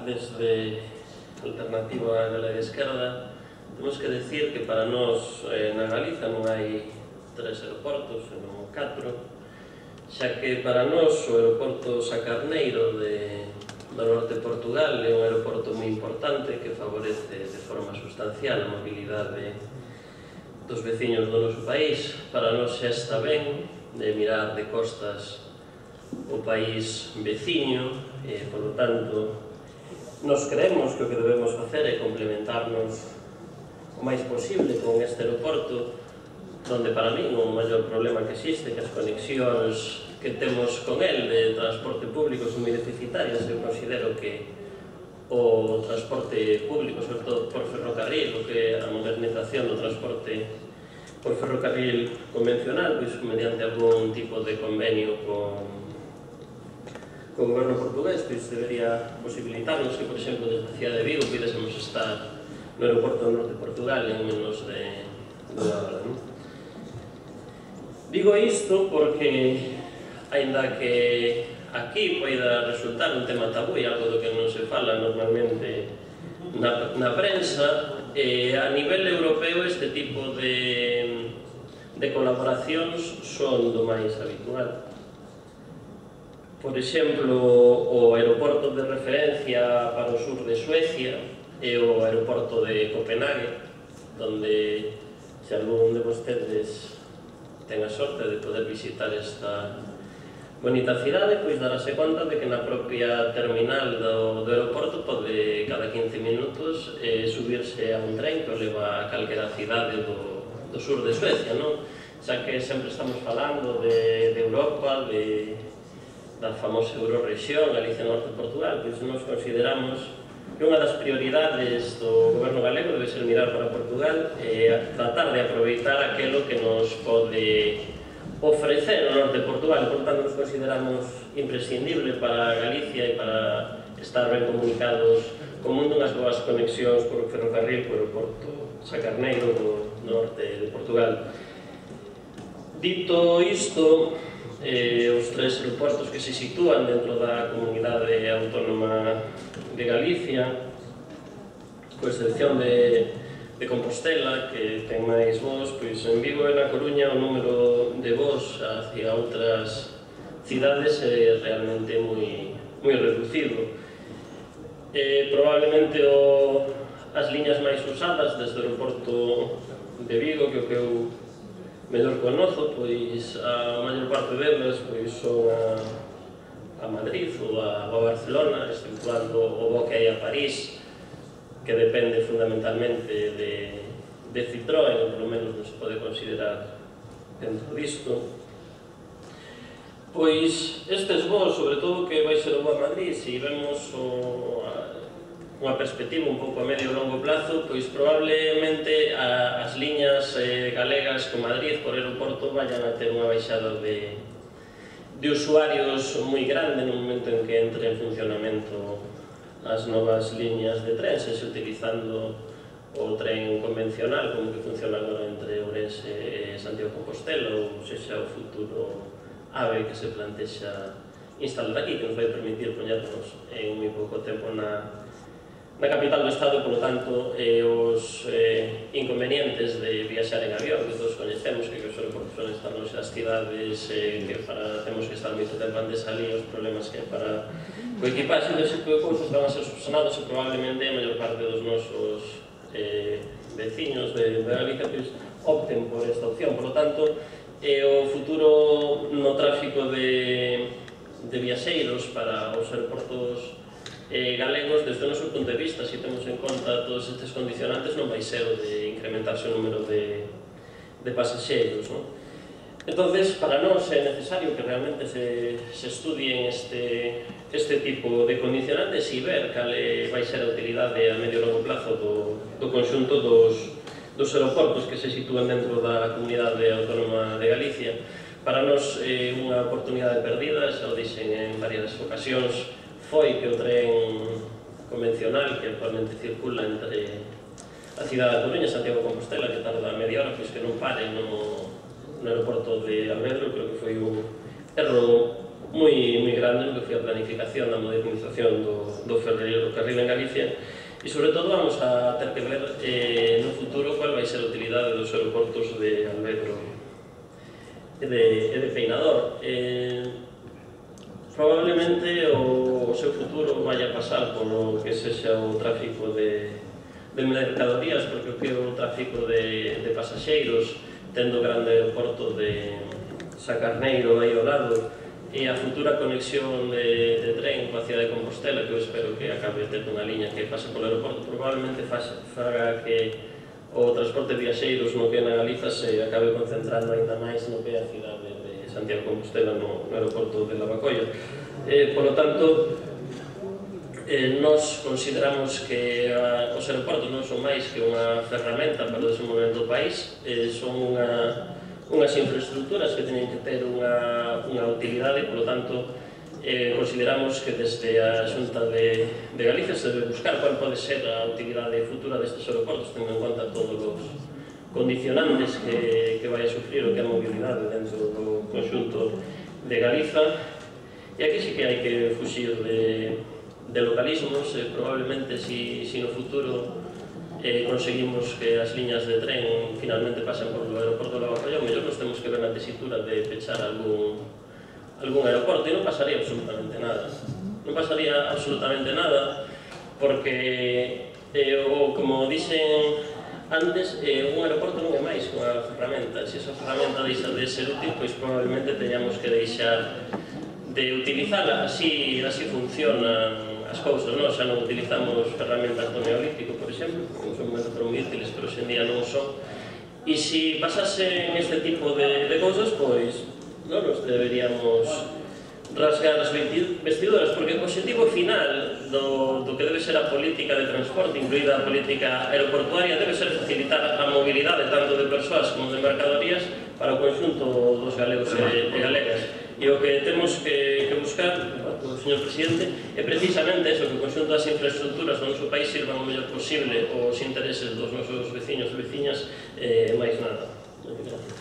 desde Alternativa Galega Esquerda, temos que decir que para nós na Galiza non hai 3 aeroportos, senón 4, xa que para nós o aeroporto Sacarneiro do norte de Portugal é un aeroporto moi importante que favorece de forma sustancial a mobilidade dos veciños do noso país. Para nós xa está ben de mirar de costas o país veciño e, por lo tanto, nos creemos que o que debemos facer é complementarnos o máis posible con este aeroporto, donde para mí o maior problema que existe, que as conexións que temos con el de transporte público son moi deficitarias. Eu considero que o transporte público, sobre todo por ferrocarril, o que é a modernización do transporte por ferrocarril convencional, pois mediante algún tipo de convenio con o goberno portugués, pois debería posibilitarnos que, por exemplo, desde a cidade de Vigo pudésemos estar no aeroporto do norte de Portugal en menos de 2 horas. Digo isto porque, aínda que aquí poida resultar un tema tabú e algo do que non se fala normalmente na prensa, a nivel europeo este tipo de colaboracións son do máis habitual. Por exemplo, o aeroporto de referencia para o sur de Suecia é o aeroporto de Copenhague, donde se algún de vostedes ten a sorte de poder visitar esta bonita cidade, pois darase conta de que na propia terminal do aeroporto pode cada 15 minutos subirse a un tren que o leva a calquera cidade do sur de Suecia, non? Xa que sempre estamos falando de Europa, da famosa Eurorrexión, Galicia Norte de Portugal, pois nos consideramos que unha das prioridades do goberno galego debe ser mirar para Portugal e tratar de aproveitar aquilo que nos pode ofrecer o norte de Portugal. Por tanto, nos consideramos imprescindible para Galicia e para estar ben comunicados co mundo unhas boas conexións por ferrocarril por o aeroporto Sacarneiro do norte de Portugal. Dito isto, os 3 aeroportos que se sitúan dentro da comunidade autónoma de Galicia, con excepción de Compostela, que ten máis voos, pois en Vigo e na Coruña o número de voos hacia outras cidades é realmente moi reducido. Probablemente as liñas máis usadas desde o aeroporto de Vigo, que o que eu mellor conozo, pois a maior parte delas son a Madrid ou a Barcelona, exceptuando o voo que hai a París, que depende fundamentalmente de Citroën, ou polo menos non se pode considerar dentro disto. Pois estes voos, sobre todo que vai ser o voo a Madrid, se vemos unha perspectiva un pouco a medio e longo plazo, pois probablemente as liñas galegas con Madrid por aeroporto vayan a ter unha baixada de usuarios moi grande no momento en que entre en funcionamento as novas liñas de tren, sexa utilizando o tren convencional como que funciona agora entre Ourense e Santiago de Compostela, ou sexa o futuro AVE que se plantexa instalar aquí, que nos vai permitir poñernos en moi pouco tempo na capital do Estado. Por lo tanto, os inconvenientes de viaxar en avión, que todos coñecemos, que os aeroportos son estar nos das cidades, que temos que estar moito tempo antes ali, os problemas que para o equipaxe dese tipo de cousas van a ser subsanados e probablemente a maior parte dos nosos veciños de Galicia opten por esta opción. Por lo tanto, o futuro no tráfico de viaxeiros para os aeroportos galegos, desde o noso punto de vista, se temos en conta todos estes condicionantes, non vai ser o de incrementarse o número de pasaxeiros. Entonces, para nós é necesario que realmente se estudien este tipo de condicionantes e ver cal vai ser a utilidade a medio e longo plazo do conxunto dos aeroportos que se sitúan dentro da comunidade autónoma de Galicia. Para nós é unha oportunidade perdida, xa o dixen en varias ocasións, foi que o tren convencional que actualmente circula entre a cidade da Coruña e Santiago de Compostela, que tarda media hora, pois que non pare no aeroporto de Alvedro. Creo que foi un erro moi grande no que foi a planificación da modernización do ferrocarril en Galicia, e sobre todo vamos a ter que ver no futuro cual vai ser a utilidade dos aeroportos de Alvedro e de Peinador. Probablemente o seu futuro vai a pasar polo que sexa o tráfico de mercadorías, porque o que é o tráfico de pasaxeiros, tendo o grande aeroporto de Sacarneiro aí ao lado, e a futura conexión de tren coa cidade de Compostela, que eu espero que acabe de ter unha liña que pase polo aeroporto, probablemente faga que o transporte de viaxeiros no que na Galiza se acabe concentrando ainda máis no que é a cidade de Santiago de Compostela no aeroporto de Lavacolla. Por lo tanto, nós consideramos que os aeroportos non son máis que unha ferramenta para o desenvolvemento do país, son unhas infraestructuras que teñen que ter unha utilidade, por lo tanto, consideramos que desde a Xunta de Galicia se debe buscar cual pode ser a utilidade futura destes aeroportos, tendo en conta todos os condicionantes que vai a sufrir o que é a mobilidade dentro do conxunto de Galiza. E aquí sí que hai que fuxir de localismos. Probablemente, si no futuro conseguimos que as liñas de tren finalmente pasen por o aeroporto de Lavacolla, mellor nos temos que ver na tesitura de pechar algún aeroporto, e non pasaría absolutamente nada. Non pasaría absolutamente nada, porque, como dixen antes, un aeroporto non é máis que unha ferramenta. Se esa ferramenta deixa de ser útil, pois probablemente teñamos que deixar de utilizala. Así funcionan as cousas, non? Xa non utilizamos ferramentas do Neolítico, por exemplo, que son moi útiles, pero hoxe en día non son. E se pasasen este tipo de cousas, pois non nos deberíamos rasgar as vestiduras, porque o objetivo final do que debe ser a política de transporte, incluída a política aeroportuaria, debe ser facilitar a mobilidade tanto de persoas como de mercadorías para o conxunto dos galegos e galegas. E o que temos que buscar, señor Presidente, é precisamente eso, que o conxunto das infraestructuras do noso país sirvan o mellor posible os intereses dos nosos veciños e veciñas, máis nada. Moitas gracias.